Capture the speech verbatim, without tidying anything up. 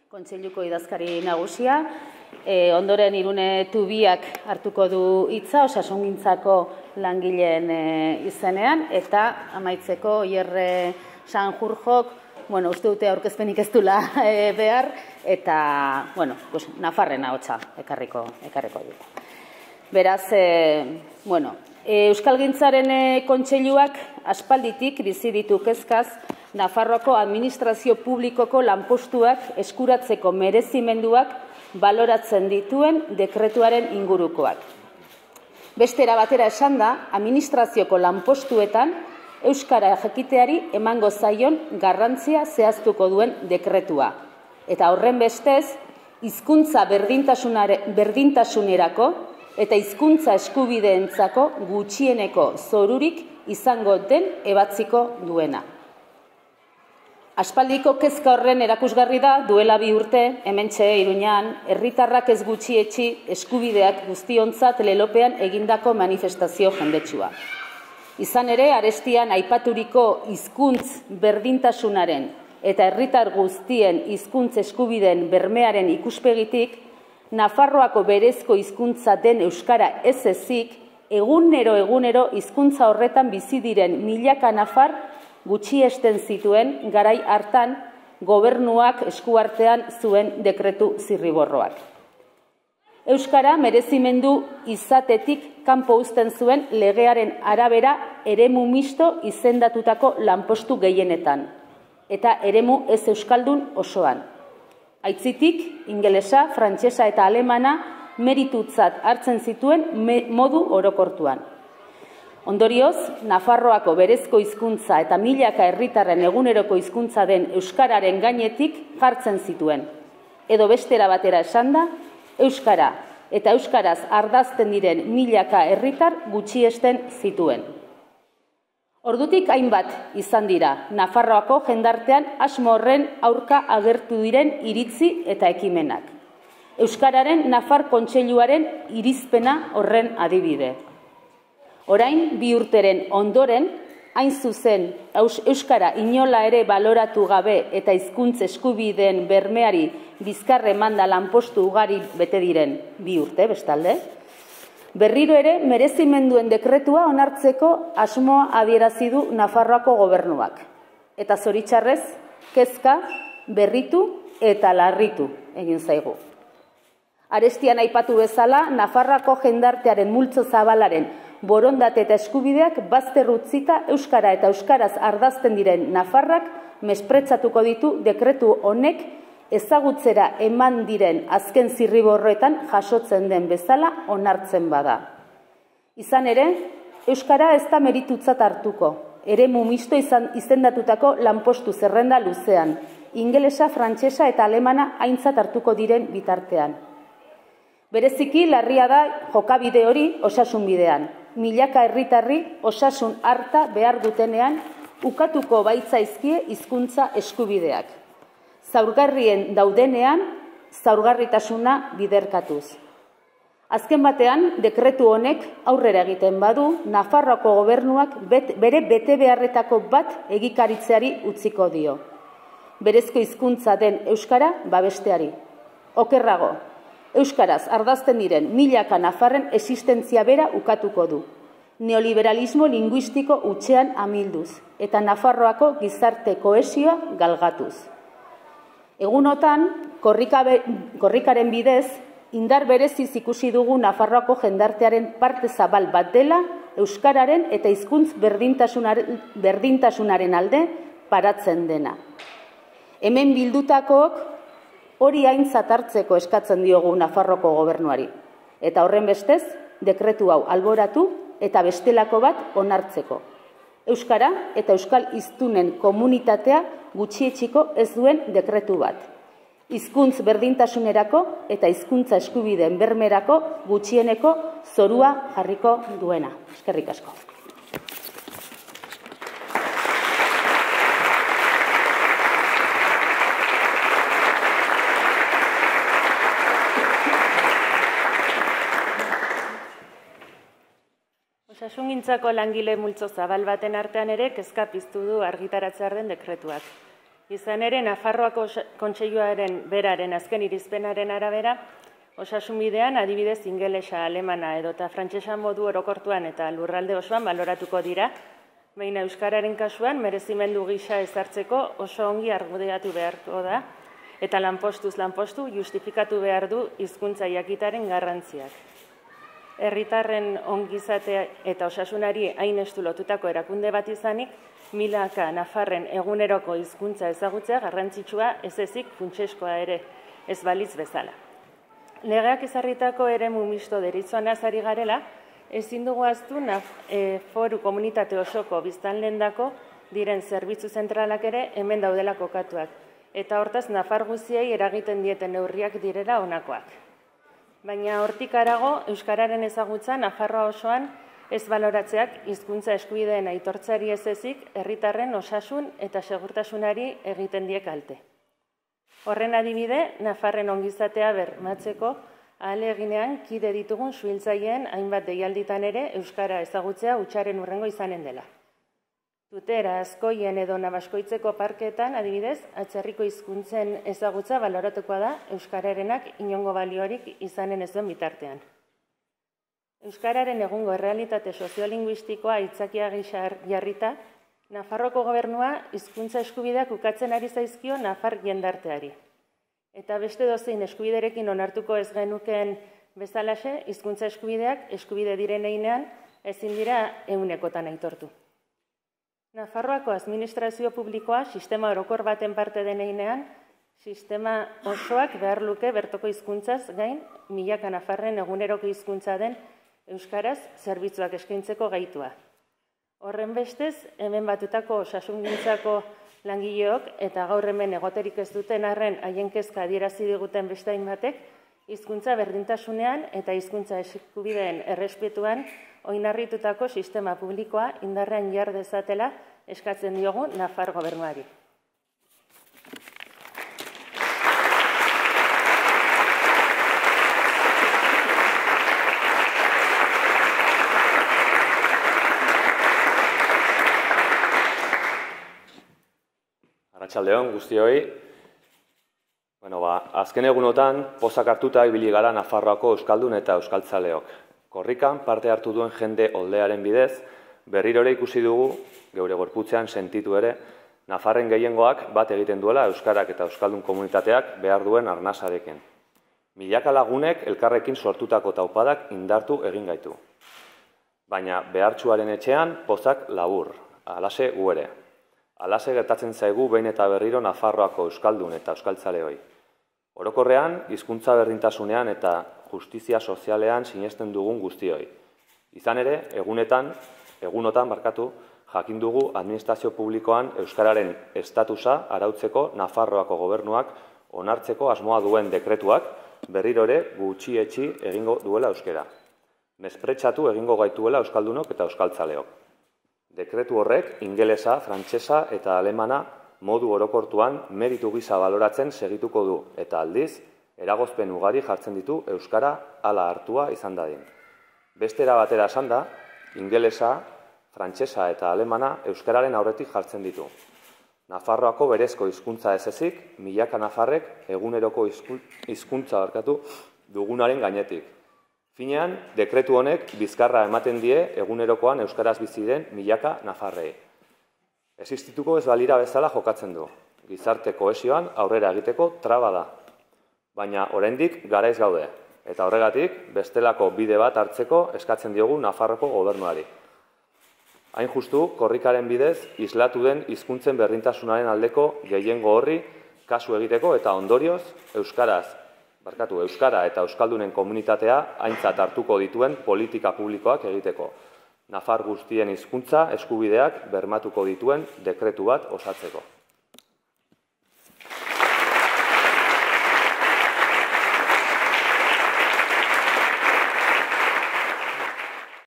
Kontseiluko idazkari nagusia, e, ondoren Irune Tubiak hartuko du hitza osasungintzako langileen e, izenean, eta amaitzeko Oierre Sanjurjok, bueno, uste dute aurkezpenik ez dula e, behar, eta, bueno, pues, Nafarren ahotsa ekarriko, ekarriko dut. Beraz, e, bueno, e, Euskalgintzaren e, kontseiluak aspalditik bizi ditu kezkaz Nafarroako administrazio publikoko lanpostuak eskuratzeko merezimenduak baloratzen dituen dekretuaren ingurukoak. Beste era batera esan da, administrazioko lanpostuetan euskara jakiteari emango zaion garrantzia zehaztuko duen dekretua. Eta horren bestez, hizkuntza berdintasunerako eta hizkuntza eskubideentzako gutxieneko zorurik izango den ebatziko duena. Aspaldiko kezka horren erakusgarri da duela bi urte, hementxe Iruñan, herritarrak ez gutxietsi eskubideak guztiontzat lelopean egindako manifestazio jendetsua. Izan ere, arestian aipaturiko hizkuntz berdintasunaren eta herritar guztien hizkuntz eskubideen bermearen ikuspegitik, Nafarroako berezko hizkuntza den euskara ez ezik, egunero egunero hizkuntza horretan bizi diren milaka nafar gutxiesten zituen garai hartan gobernuak eskuartean zuen dekretu zirriborroak. Euskara merezimendu izatetik kanpo uzten zuen legearen arabera eremu misto izendatutako lanpostu gehienetan, eta eremu ez euskaldun osoan. Aitzitik, ingelesa, frantsesa eta alemana meritutzat hartzen zituen modu orokortuan. Ondorioz, Nafarroako berezko hizkuntza eta milaka herritarren eguneroko hizkuntza den euskararen gainetik jartzen zituen. Edo bestera batera esanda, euskara eta euskaraz ardazten diren milaka herritar gutxiesten zituen. Ordutik hainbat izan dira, Nafarroako jendartean asmo horren aurka agertu diren iritzi eta ekimenak. Euskararen Nafar Kontseiluaren irizpena horren adibide. Orain, bi urteren ondoren, hain zuzen euskara inola ere baloratu gabe eta hizkuntz eskubideen bermeari bizkarre manda lanpostu ugari bete diren bi urte, bestalde, berriro ere merezimenduen dekretua onartzeko asmoa adierazi du Nafarroako gobernuak. Eta zoritxarrez, kezka, berritu eta larritu egin zaigu. Arestian aipatu bezala, Nafarroako jendartearen multzo zabalaren borondate eta eskubideak bazter utzita euskara eta euskaraz ardazten diren nafarrak mespretzatuko ditu dekretu honek ezagutzera eman diren azken zirriborroetan jasotzen den bezala onartzen bada. Izan ere, euskara ez da meritutzat hartuko, eremu misto izendatutako lanpostu zerrenda luzean, ingelesa, frantsesa eta alemana aintzat hartuko diren bitartean. Bereziki larria da jokabide hori osasun bidean. Milaka herritarri osasun harta behar dutenean ukatuko baitzaizkie hizkuntza eskubideak. Zaurgarrien daudenean, zaurgarritasuna biderkatuz. Azken batean, dekretu honek aurrera egiten badu, Nafarroako gobernuak bere bete beharretako bat egikaritzeari utziko dio. Berezko hizkuntza den euskara babesteari. Okerrago, euskaraz ardazten diren milaka nafarren existentzia bera ukatuko du. Neoliberalismo linguistiko hutsean amilduz eta Nafarroako gizarte kohesioa galgatuz. Egunotan, korrikaren bidez, indar bereziz ikusi dugu Nafarroako jendartearen parte zabal bat dela euskararen eta hizkuntz berdintasunaren alde paratzen dena. Hemen bildutakook hori aintzat hartzeko eskatzen diogu Nafarroko gobernuari. Eta horren bestez, dekretu hau alboratu eta bestelako bat onartzeko. Euskara eta euskal hiztunen komunitatea gutxietxiko ez duen dekretu bat. Hizkuntz berdintasunerako eta hizkuntza eskubideen bermerako gutxieneko zorua jarriko duena. Eskerrik asko. Osasungintzako langile multzo zabal baten artean ere kezka piztu du argitaratzear den dekretuak. Izan ere, Nafarroako Kontseiluaren beraren azken irizpenaren arabera, osasun bidean adibidez ingelesa, alemana edota frantsesa modu orokortuan eta lurralde osoan baloratuko dira, baina euskararen kasuan merezimendu gisa ezartzeko oso ongi argudiatu beharko da, eta lanpostuz lanpostu justifikatu behar du hizkuntza jakitaren garrantziak. Herritarren ongizatea eta osasunari hain estu lotutako erakunde bat izanik, milaka nafarren eguneroko hizkuntza ezagutzea garrantzitsua ez ezik funtseskoa ere ez balitz bezala. Legeak ezarritako eremu misto deritzoanaz ari garela, ezin dugu ahaztu foru komunitate osoko biztanleendako diren zerbitzu zentralak ere hemen daudela kokatuak, eta hortaz nafar guztiei eragiten dieten neurriak direla honakoak. Baina hortik harago, euskararen ezagutza Nafarroa osoan ez baloratzeak hizkuntza eskubideen aitortzeari ez ezik herritarren osasun eta segurtasunari egiten die kalte. Horren adibide, Nafarren ongizatea bermatzeko ahaleginean kide ditugun suhiltzaileen hainbat deialditan ere euskara ezagutzea hutsaren hurrengo izanen dela. Tutera, Azkoien edo Nabaskoitzeko parkeetan, adibidez, atzerriko hizkuntzen ezagutza baloratukoa da euskararenak inongo baliorik izanen ez duen bitartean. Euskararen egungo errealitate soziolinguistikoa aitzakia gisa jarrita, Nafarroko gobernua hizkuntza eskubideak ukatzen ari zaizkio nafar jendarteari. Eta beste dozein eskubiderekin onartuko ez genukeen bezalaxe, hizkuntza eskubideak eskubide diren heinean ezin dira ehunekotan aitortu. Nafarroako administrazio publikoa sistema orokor baten parte den heinean, sistema osoak behar luke bertoko hizkuntzaz gain milaka nafarren eguneroko hizkuntza den euskaraz zerbitzuak eskaintzeko gaitua. Horren bestez, hemen batutako osasungintzako langileok eta gaur hemen egoterik ez duten arren haien kezka adierazi diguten beste hainbatek, hizkuntza berdintasunean eta hizkuntza eskubideen errespetuan oinarritutako sistema publikoa indarrean jar dezatela eskatzen diogu Nafar gobernuari. Arratsaldeon guztioi. Bueno, ba, azken egunotan pozak hartuta ibili gara Nafarroako euskaldun eta euskaltzaleok. Korrikan parte hartu duen jende oldearen bidez, berriro ere ikusi dugu, geure gorputzean sentitu ere, Nafarren gehiengoak bat egiten duela euskarak eta euskaldun komunitateak behar duen arnasarekin. Milaka lagunek elkarrekin sortutako taupadak indartu egin gaitu. Baina behartsuaren etxean pozak labur, alase gu ere. Alase gertatzen zaigu behin eta berriro Nafarroako euskaldun eta euskaltzaleoi. Orokorrean, hizkuntza berdintasunean eta justizia sozialean sinesten dugun guztioi. Izan ere, egunetan, egunotan barkatu, jakin dugu administrazio publikoan euskararen estatusa arautzeko Nafarroako gobernuak onartzeko asmoa duen dekretuak berriro ere gutxietsi egingo duela euskera. Mespretxatu egingo gaituela euskaldunok eta euskaltzaleok. Dekretu horrek ingelesa, frantsesa eta alemana modu orokortuan meritu gisa baloratzen segituko du eta aldiz, eragozpen ugari jartzen ditu euskara hala hartua izan dadin. Bestera batera esan da, ingelesa, frantsesa eta alemana euskararen aurretik jartzen ditu. Nafarroako berezko hizkuntza ez ezik, milaka nafarrek eguneroko hizkuntza barkatu dugunaren gainetik. Finean, dekretu honek bizkarra ematen die egunerokoan euskaraz bizi den milaka nafarrei. Existituko ez balira bezala jokatzen du. Gizarte kohesioan aurrera egiteko traba da. Baina oraindik garaiz gaude, eta horregatik bestelako bide bat hartzeko eskatzen diogu Nafarroko gobernuari. Hain justu, korrikaren bidez, islatu den hizkuntzen berdintasunaren aldeko gehiengo horri kasu egiteko eta ondorioz euskaraz Barkatu, euskara eta euskaldunen komunitatea aintzat hartuko dituen politika publikoak egiteko. Nafar guztien hizkuntza eskubideak bermatuko dituen dekretu bat osatzeko.